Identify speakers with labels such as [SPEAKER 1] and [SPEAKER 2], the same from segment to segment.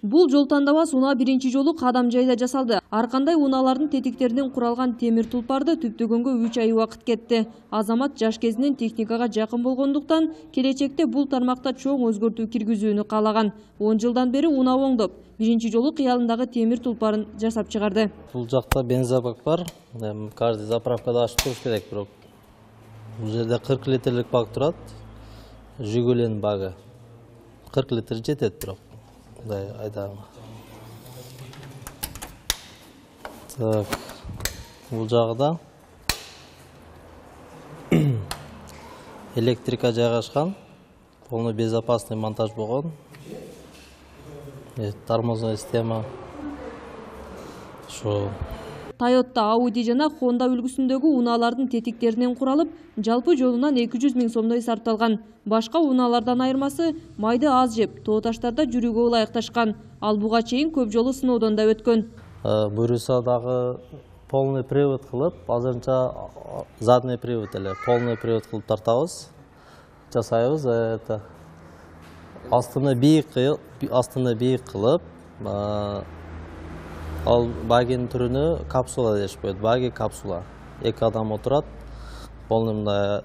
[SPEAKER 1] Бул жол тандабас унаа биринчи жолу Кадамжайда жасалды. Ар кандай унаалардын тетиктеринен куралган темир тулпарды түптөгөнгө 3 ай убакыт кетти. Азамат жаш кезинен техникага жакын болгондуктан келечекте бул тармакта чоң өзгөртүү киргизүүнү каалаган. 10 жылдан бери унаа оңдоп, биринчи жолу кыялындагы темир тулпарын жасап чыгарды.
[SPEAKER 2] Бул жакта бензобак бар. Каждый заправкада ачып туруш керек, бирок бул жерде 40 литрлик бак турат. Жигулинин багы 40 литр жетет, бирок мындай айдаган. Так, бул жагында электрика жайгашкан, полный безопасный монтаж болгон. Тормозная система.
[SPEAKER 1] Toyota, Audi жана Honda үлгүсүндөгү унаалардын тетиктеринен куралып, жалпы жолунан 200 000 сомдой сарпталган. Башка унаалардан айырмасы майды аз жеп, тоо таштарда жүрүүгө ылайыкташкан. Ал буга чейин көп жолу сыноодон да өткөн.
[SPEAKER 2] Буюрса дагы полный привод кылып, азырынча задний привод эле, полный привод кылып тартабыз. Жасайбыз, это астына бийик кылып, ал багинин түрүнө капсула дешип коет. Баги капсула. 2 адам отурат. Полный мындай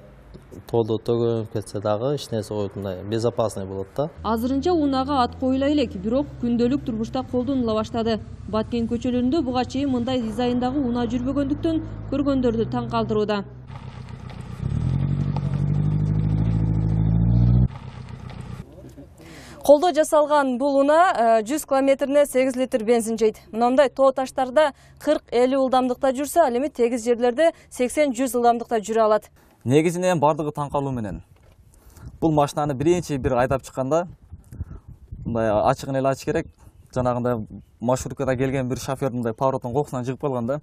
[SPEAKER 2] тоодо төгөнүп кетсе дагы эч нерсе коюп мындай безопасный болот да.
[SPEAKER 1] Азырынча унаага ат коюла элек, бирок күндөлүк турмушта колдонула баштады. Баткен көчөлөрүндө буга чейин мындай дизайндагы унаа жүрбөгөндүктөн көргөндөрдү таң калтырууда. Колдо жасалган бул унаа 100 километрине 8 литр бензин жейт. Мындай тоо таштарда 40-50 ылдамдыкта жүрсө, ал эми тегиз жерлерде 80-100 ылдамдыкта жүрө алат.
[SPEAKER 3] Негизинен бардыгы таң калуу менен. Бул машинаны биринчи бир айдап чыкканда мындай ачыгын эле ачыш керек. Жанагындай маршруткада келген бир шофер мындай повороттун кокусунан жыгып калган да.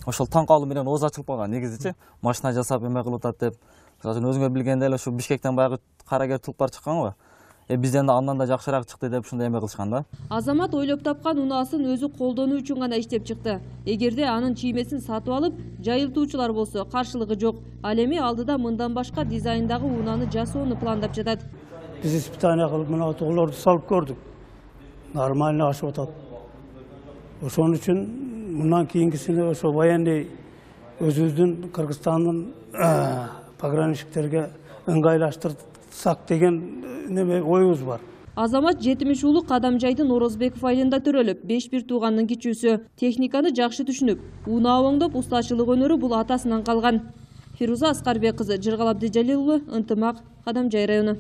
[SPEAKER 3] Ошол таң калуу менен ооз ачылып калган негизичи. Машина жасап эме кылып атат деп. Өзүңөр билгендей эле ушу Бишкектен баягы карагер тулпар чыккан го. Бизден андан да жакшыраак чыкты деп ушундай эме кылышкан да.
[SPEAKER 1] Азамат ойлоп тапкан унаасын өзү колдонуу үчүн гана иштеп чыкты. Эгерде анын чиймесин сатып алып, жайылтуучулар болсо каршылыгы жок. Ал эми алдыда мындан башка дизайндагы унааны жасоону пландап жатат.
[SPEAKER 4] Биз испытание кылып мына тоолорду салып көрдүк. Нормально ашып атат. Ошон үчүн мындан кийинкисине ошо военный өзүбүздүн Кыргызстандын пограничниктерге ыңгайлаштырсак деген неме оюбуз бар.
[SPEAKER 1] Азамат 70 уулу Кадамжайдын Орозбеков айылында төрөлүп, 5 туугандын кичүүсү. Техниканы жакшы түшүнүп, унаа оңдоп, устачылык өнөрү бул атасынан калган. Фируза Аскарбек кызы, Жыргал Абдыжалил уулу, Ынтымак, Кадамжай району.